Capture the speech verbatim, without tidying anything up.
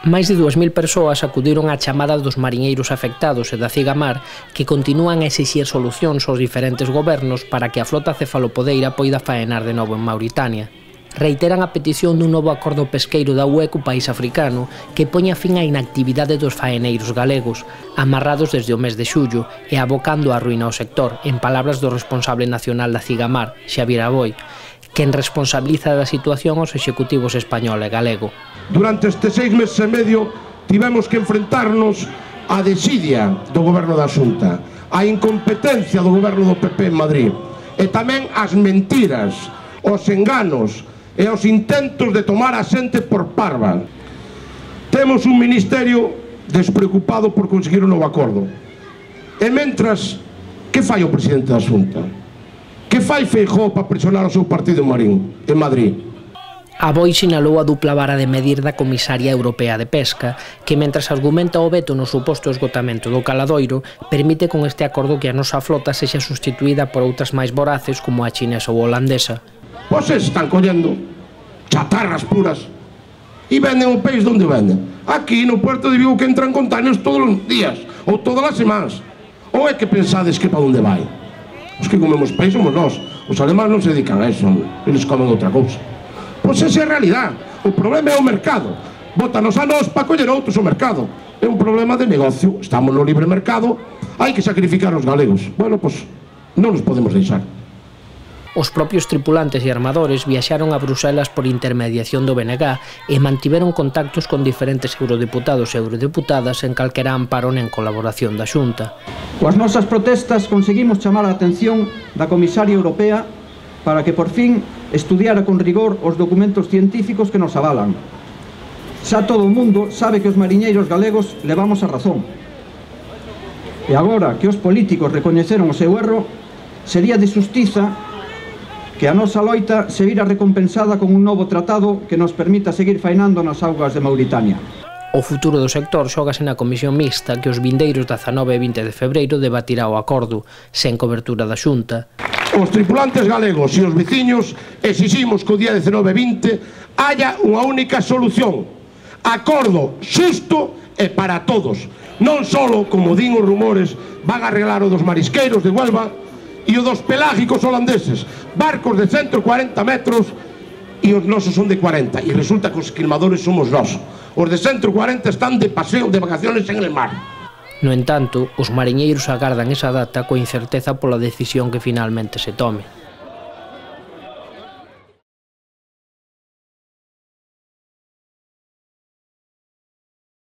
Máis de dúas mil persoas acudiron á chamada dos mariñeiros afectados e da Cigamar, que continúan a exixir solucións aos diferentes gobernos para que a flota cefalopodeira poida faenar de novo en Mauritania. Reiteran a petición dun novo acordo pesqueiro da U E co país africano que poña fin á inactividade dos faeneiros galegos, amarrados desde o mes de xullo e abocando a ruína ao sector, en palabras do responsable nacional da Cigamar, Xavier Aboi, quen responsabiliza da situación aos executivos español e galego. Durante estes seis meses e medio tivemos que enfrentarnos á desidia do goberno da Xunta, á incompetencia do goberno do P P en Madrid e tamén ás mentiras, aos enganos e aos intentos de tomar a xente por parva. Temos un ministerio despreocupado por conseguir un novo acordo. E mentras, que fai o presidente da Xunta? Que fai Feijóo para presionar o seu partido en Marín, en Madrid? Aboi sinalou a dupla vara de medir da Comisaria Europea de Pesca, que mentras argumenta o veto no suposto esgotamento do caladoiro, permite con este acordo que a nosa flota sexa sustituída por outras máis voraces como a chinesa ou holandesa. Pois se están collendo chatarras puras e venden o peixe onde venden. Aquí no Puerto de Vigo que entran containers todos os días ou todas as semanas. Ou é que pensades que para onde vai? Os que comemos peixe somos nós. Os alemás non se dedican a eso, eles comen outra cousa. Pois esa é a realidade. O problema é o mercado. Bótanos a nós para coller outros o mercado. É un problema de negocio. Estamos no libre mercado. Hai que sacrificar os galegos. Bueno, pois non nos podemos deixar. Os propios tripulantes e armadores viaxaron a Bruselas por intermediación do B N G e mantiveron contactos con diferentes eurodeputados e eurodeputadas en calquera amparo nen colaboración da Xunta. Coas nosas protestas conseguimos chamar a atención da Comisaria Europea para que por fin estudiara con rigor os documentos científicos que nos avalan. Xa todo o mundo sabe que os mariñeiros galegos levamos a razón. E agora que os políticos recoñeceron o seu erro, sería de xustiza que a nosa loita se vira recompensada con un novo tratado que nos permita seguir faenando nas augas de Mauritania. O futuro do sector xógase na comisión mixta que os vindeiros dezanove e vinte de febreiro debatirá o acordo, sen cobertura da Xunta. Os tripulantes galegos e os veciños exiximos que o día dezanove e vinte haya unha única solución. Acordo xusto e para todos. Non só, como din os rumores, van a arreglar o dos marisqueiros de Huelva e o dos pelágicos holandeses, barcos de ciento cuarenta metros e os nosos son de cuarenta, e resulta que os esquilmadores somos nós. Os de ciento cuarenta están de paseo, de vacaciones en el mar. No entanto, os mariñeiros agardan esa data coa incerteza pola decisión que finalmente se tome.